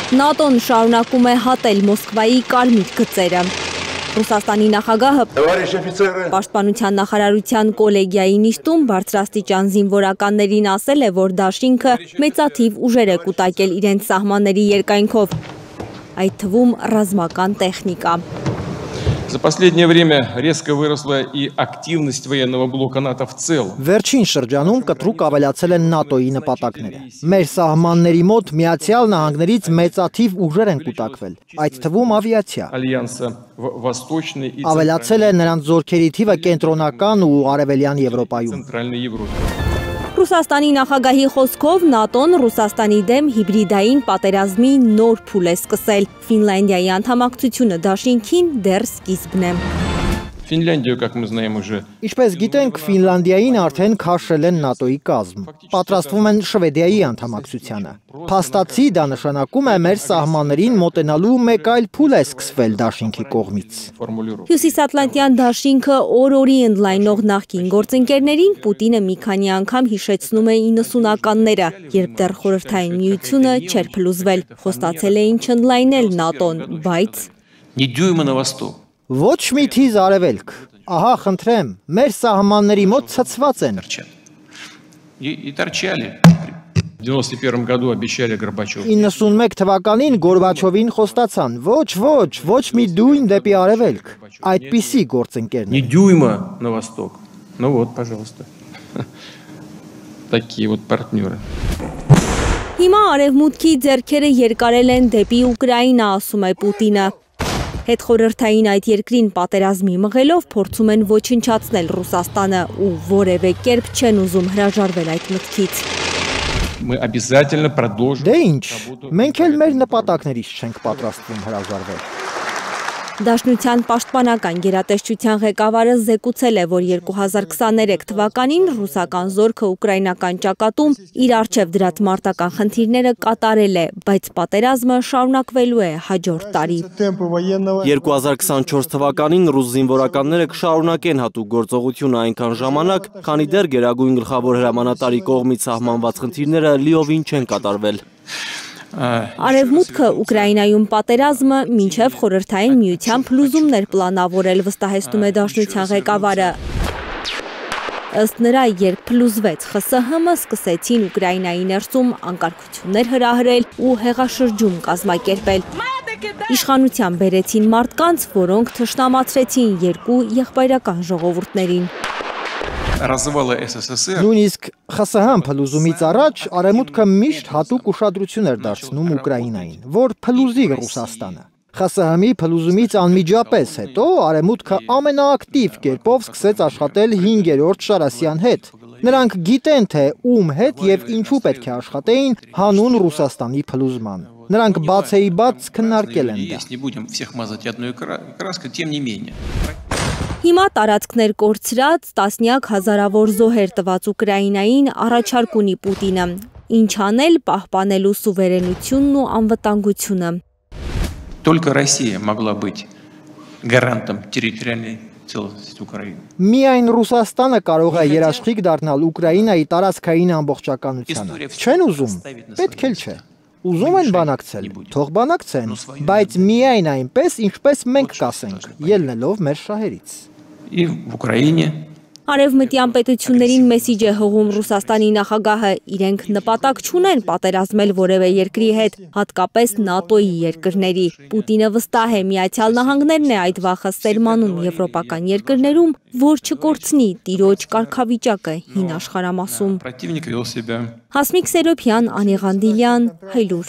ՆԱՏՕ-ն շարունակում է հատել Մոսկվայի կարմիր գծերը։ Ռուսաստանի նախագահը Պաշտպանության նախարարության կոլեգիայի նիստում բարձրաստիճան զինվորականներին ասել է, որ դաշինքը մեծաթիվ ուժեր է կուտակել իրենց սահմանների երկայնքով, այդ թվում ռազմական տեխնիկա։ За последнее время резко выросла и активность военного блока НАТО в целом. Վերջին շրջանում կտրուկ ավելացել են ՆԱՏՕ-ի նպատակները։ Մեր սահմանների մոտ Միացյալ Նահանգներից մեծաթիվ ուժեր են կուտակվել, այդ թվում ավիացիա։ Ավելացել է նրանց զորքերի թիվը կենտրոնական ու արևելյան Եվրոպայում։ Ռուսաստանի նախագահի խոսքով ՆԱՏՕ-ն Ռուսաստանի դեմ հիբրիդային պատերազմի նոր փուլ է սկսել։ Ֆինլանդիայի անդամակցությունը դաշինքին դեռ սկիզբն է։ Финляндию, как мы знаем, уже. Ինչպես գիտենք, Ֆինլանդիային արդեն քաշել են ՆԱՏՕ-ի կազմ։ Պատրաստվում են Շվեդիայի անդամակցությանը։ Փաստացի դա նշանակում է մեր սահմաններին մոտենալու մեկ այլ փուլ է սկսվել դաշինքի կողմից։ Հյուսիսատլանտյան դաշինքը օր-օրի ընդլայնող նախկին գործընկերներին Պուտինը մի քանի անգամ հիշեցնում է 90-ականները, երբ դեռ Խորհրդային Միությունը չէր փլուզվել։ Խոստացել էին չընդլայնել ՆԱՏՕ-ն, բայց Ни дюйма на восток. Ոչ մի թիզ արևելք, ահա խնդրեմ, մեր սահմանների մոտ ցցված են։ И торчали. В 91 году обещали Горбачеву. 91 թվականին Գորբաչովին խոստացան, ոչ մի դույն դեպի արևելք, այդպիսի գործընկերներ։ Ни дюйма на восток. Ну вот, пожалуйста. Такие вот партнеры. Հիմա արևմուտքի ձեռքերը երկարել են դեպի Ուկրաինա, ասում է Պուտինը։ Հետխորհրդային այդ երկրին պատերազմի մղելով փորձում են ոչնչացնել Ռուսաստանը ու որևէ կերպ չեն ուզում հրաժարվել այդ մտքից։ Мы обязательно продолжим. Դե ինչ, մենք էլ մեր նպատակներից չենք պատրաստվում հրաժարվել։ Դաշնության պաշտպանական գերատեսչության ղեկավարը զեկուցել է, որ 2023 թվականին ռուսական զորքը ուկրաինական ճակատում իր առջև դրած մարտական խնդիրները կատարել է, բայց պատերազմը շարունակվելու է հաջորդ տարի։ 2024 թվականին ռուս զինվորականները կշարունակեն հատուկ գործողությունը այնքան ժամանակ, քանի դեռ գերագույն գլխավոր հրամանատարի կողմից սահմանված խնդիրները լիովին չեն կատարվել։ Արևմուտքը Ուկրաինայում պատերազմը մինչև Խորհրդային Միության փլուզումներ պլանավորել, վստահեցնում է դաշնության ղեկավարը։ Ըստ նրա, երբ փլուզվեց ԽՍՀՄ, սկսեցին Ուկրաինայի ներսում անկարգություններ հրահրել ու հեղաշրջում կազմակերպել։ Իշխանության բերեցին մարդկանց, որոնք թշնամացրեցին երկու եղբայրական ժողովուրդներին։ Նույնիսկ ԽՍՀՄ փլուզումից առաջ արևմուտքը միշտ հատուկ ուշադրություն էր դարձնում Ուկրաինային, որ փլուզի Ռուսաստանը։ ԽՍՀՄ-ի փլուզումից անմիջապես հետո արևմուտքը ամենաակտիվ կերպով սկսեց աշխատել 5-րդ Շարասյան հետ։ Նրանք գիտեն, թե ում հետ եւ ինչու պետք է աշխատեին հանուն Ռուսաստանի փլուզման։ Նրանք բացեիբաց քննարկել են դա։ Հիմա տարածքներ կորցրած տասնյակ հազարավոր զոհեր տված Ուկրաինային առաջարկ ունի Պուտինը, ինչ անել պահպանելու սուվերենությունն ու անվտանգությունը։ Только Россия могла быть гарантом территориальной целостности Украины. Միայն Ռուսաստանը կարող է երաշխիք դառնալ Ուկրաինայի տարածքային ամբողջականությանը։ Չեն ուզում, պետք էլ չէ։ Ուզում են բանակցել, թող բանակցեն, բայց միայն այնպես, ինչպես մենք կասենք, ելնելով մեր շահերից։ И в Украине. Արևմտյան պետություններին մեսիջ է հղում Ռուսաստանի նախագահը, իրենք նպատակ չունեն պատերազմել որևէ երկրի հետ, հատկապես ՆԱՏՕ-ի երկրների։ Պուտինը վստահ է, Միացյալ Նահանգներն է այդ վախը սերմանում եվրոպական երկրներում, որ չկորցնի տիրոջ կարգավիճակը հին աշխարհամասում։ Հասմիկ Սերոբյան, Անի Ղանդիլյան, Հայլուր։